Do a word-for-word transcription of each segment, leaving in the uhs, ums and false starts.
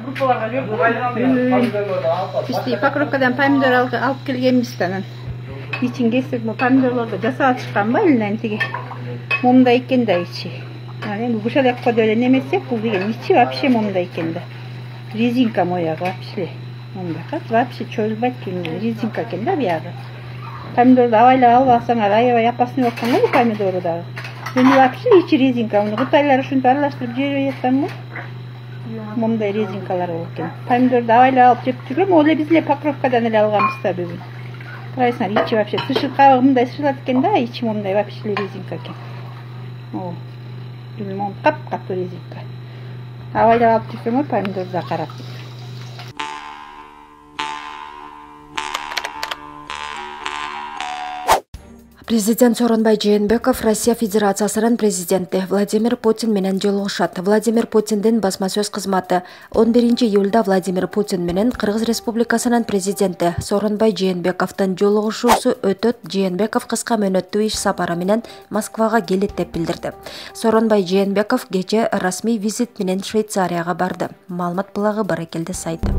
группаларга жүрүп бизди Покровкадан помидор алып келгенбиз да анан ичин кесип помидорлорду жасап чыкканбы элинен тиги момундай экен да ичи. Анан эми бушалекко деле немесек бул деген ичи вообще момундай экен да. Резинка моягы вообще. Мындакы вообще чоюлбайт резинка экен да биягы. Помидорду абайлап алып алсаңар аябай опасный болуп калган бул помидору дагы. Эми вообще ичи резинка. Муну кытайлар ушинтип аралаштырып жибере жатсаңбы? Момундай резинкалар болот экен. Помидорду абайлап алып жеп жүргөм, ол эле биз эле Покровкадан эле алганбыз да бүгүн. Карайсыңар, ичи вообще сышы кабыгы мындай сышылат экен да, ичи момундай вообще резинка экен. О, билмем, кап-катуу резинка. Абайлап алып жүрсөңөр помидорду карап. Президент Сооронбай Жээнбеков Россия Федерациясынын президенти Владимир Путин менен жолугушат. Владимир Путиндин басма сөз кызматы он биринчи июлда Владимир Путин менен Кыргыз Республикасынын президенти Сооронбай Жээнбековдун жолугушуусу өтөт. Жээнбеков кыска мөөнөттүү иш сапары менен Москвага келет деп билдирди. Сооронбай Жээнбеков кечээ расмий визит менен Швейцарияга барды. Маалымат булагы Баракелде сайты.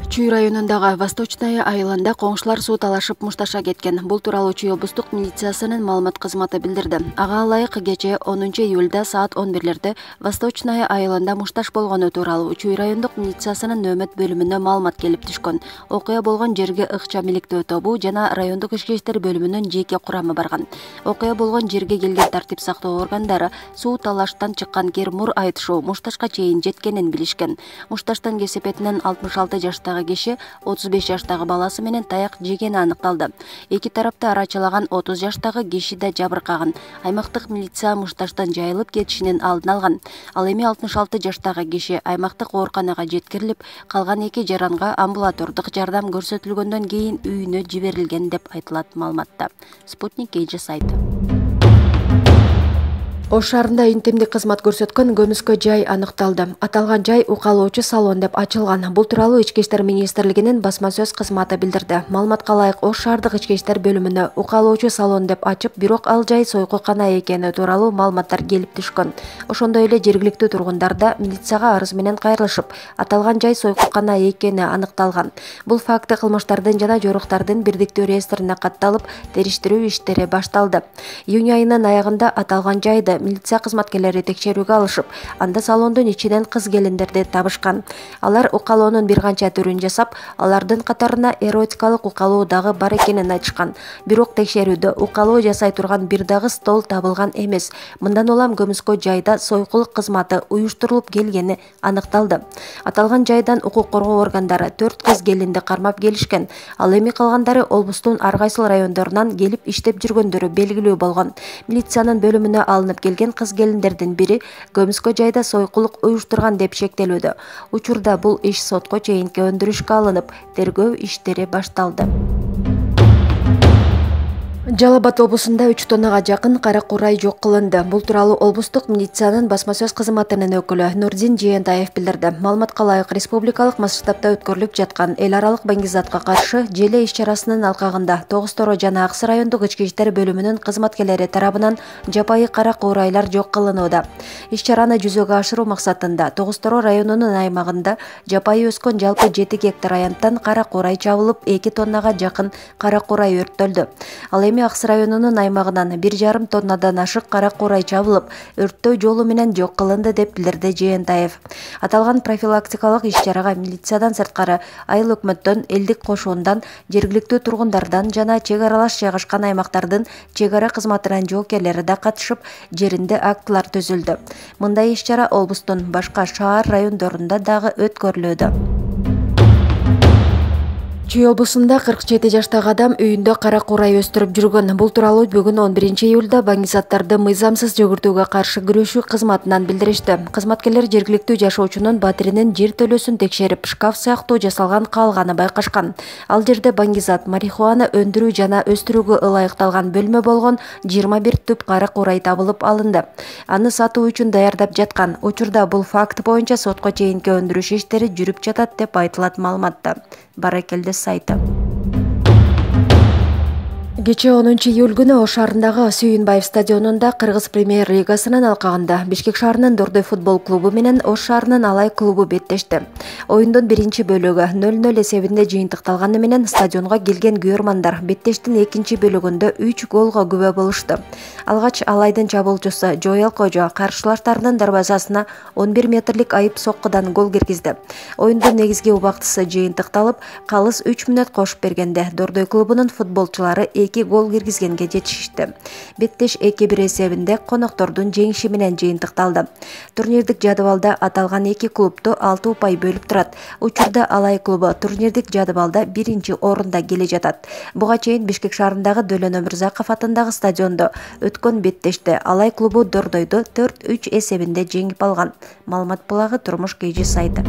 Чүй районундагы Восточная айылында коңшулар суу талашып мушташа кеткен. Бул тууралуу Чүй облустук милициясынын маалымат кызматы билдирди. Ага ылайык кечээ онунчу июлда саат он бирлерде Восточная айылында мушташ болгону тууралуу Чүй райондук милициясынын нөөмөт бөлүмүнө маалымат келип түшкөн. Окуя болгон жерге ыкчам иликтөө тобу жана райондук ички иштер бөлүмүнүн жеке курамы барган. Окуя болгон жерге келген тартип сактоо органдары суу талаштан чыккан кермур айтышуу мушташка чейин жеткенин билишкен. Мушташтын кесепетинен алтымыш алты жаштагы киши отуз беш жаштагы баласы менен таяк жегени аныкталды. Эки тарапты арачылаган отуз жаштагы киши да жабыркаган. Аймактык милиция мушташтан жайылып кетишинин алдын алган. Ал эми алтымыш алты жаштагы киши аймактык ооруканага жеткирилип, калган эки жаранга амбулатордук жардам көрсөтүлгөндөн кийин үйүнө жиберилген деп айтылат маалыматта. Спутник Эйджи сайты. Ош шаарында интимдик кызмат көрсөткөн көмүскө жай аныкталды. Аталган жай укалоочу салон деп ачылган. Бул тууралуу Ички иштер министрлигинин басма сөз кызматы билдирди. Маалыматка ылайык Ош шаардык ички иштер бөлүмүнө укалоочу салон деп ачып, бирок ал жай сойкукана экени тууралуу маалыматтар келип түшкөн. Ошондой эле жергиликтүү тургундар да милицияга арыз менен кайрылышып, аталган жай сойкукана экени аныкталган. Бул факты кылмыштардын жана жоруктардын бирдиктүү реестрине катталып, териштирүү иштери башталды. Июнь айынын аягында аталган жайды милиция кызматкерлери текшерүүгө алышып, анда салондун ичинен кыз келиндерди табышкан. Алар укалоонун бир канча түрүн жасап, алардын катарына эротикалык укалоо дагы бар экенин айтышкан. Бирок текшерүүдө укалоо жасай турган бир дагы стол табылган эмес. Мындан улам көмүскө жайда сойкулук кызматы уюштурулуп келгени аныкталды. Аталган жайдан укук коргоо органдары төрт кыз келинди кармап келишкен. Ал эми калгандары облустун ар кайсыл райондорунан келип иштеп жүргөндөрү белгилүү болгон. Милициянын бөлүмүнө алынып келген кыз келиндердин бири көмүскө жайда сойкулук уюштурган деп шектелүүдө. Учурда бул иш сотко чейинки өндүрүшкө алынып, тергөө иштери башталды. Жалал Абад облусунда үч тоннага жакын кара курай жок кылынды. Бул тууралуу облустук милициянын басма сөз кызматынын өкүлү Нурдин Жээнтаев билдирди. Маалыматка ылайык республикалык масштабта өткөрүлүп жаткан эл аралык баңгизатка каршы желе иш-чарасынын алкагында Тогуз Торо жана Аксы райондук ички иштер бөлүмүнүн кызматкерлери тарабынан жапайы кара курайлар жок кылынууда. Иш-чараны жүзөгө ашыруу максатында Тогуз Торо районунун аймагында жапайы өскөн жалпы жети гектар аянттан кара курай чабылып, эки тоннага жакын кара курай өрттөлдү. Ал эми Аксы районунун аймагынан бир жарым тоннадан ашык кара курай чабылып, өрттөө жолу менен жок кылынды деп билдирди Жээнтаев. Аталган профилактикалык иш-чарага милициядан сырткары айыл өкмөттөн, элдик кошуундан, жергиликтүү тургундардан жана чек аралаш жайгашкан аймактардын чек ара кызматынын жоокерлери да катышып, жеринде актылар түзүлдү. Мындай иш-чара облустун башка шаар райондорунда дагы өткөрүлүүдө. Чүй облусунда кырк жети жаштагы адам үйүндө кара курай өстүрүп жүргөн. Бул тууралуу бүгүн он биринчи июлда баңгизаттарды мыйзамсыз жөгүртүүгө каршы күрөшүү кызматынан билдиришти. Кызматкерлер жергиликтүү жашоочунун батиринин жер төлөсүн текшерип, шкаф сыяктуу жасалган каалганы байкашкан. Ал жерде баңгизат марихуана өндүрүү жана өстүрүүгө ылайыкталган бөлмө болгон жыйырма бир түп кара курай табылып алынды. Аны сатуу үчүн даярдап жаткан. Учурда бул факт боюнча сотко чейинки өндүрүш иштери жүрүп жатат деп айтылат маалыматта. Баракелде сайты. Кечээ онунчу июль күнү Ош шаарындагы Сүйүнбаев стадионунда Кыргыз премьер лигасынын алкагында Бишкек шаарынын Дордой футбол клубу менен Ош шаарынын Алай клубу беттешти. Оюндун биринчи бөлүгү нөл нөл эсебинде жыйынтыкталганы менен стадионго келген күйөрмандар беттештин экинчи бөлүгүндө үч голго күбө болушту. Алгач Алайдын чабуулчусу Жоел Кожо каршылаштарынын дарбазасына он бир метрлик айып соккудан гол киргизди. Оюндун негизги убактысы жыйынтыкталып, калыс үч мүнөт кошуп бергенде Дордой клубунун футболчулары эки гол киргизгенге жетишишти. Беттеш эки бир эсебинде коноктордун жеңиши менен жыйынтыкталды. Турнирлик жадыбалда аталган эки клубду алты упай бөлүп турат. Учурда Алай клубу турнирлик жадыбалда биринчи орунда келе жатат. Буга чейин Бишкек шаарындагы Дөлөн Өмүрзаков атындагы стадиондо өткөн беттеште Алай клубу Дордойду төрт үч эсебинде жеңип алган. Маалымат булагы Турмуш Кей Жи сайты.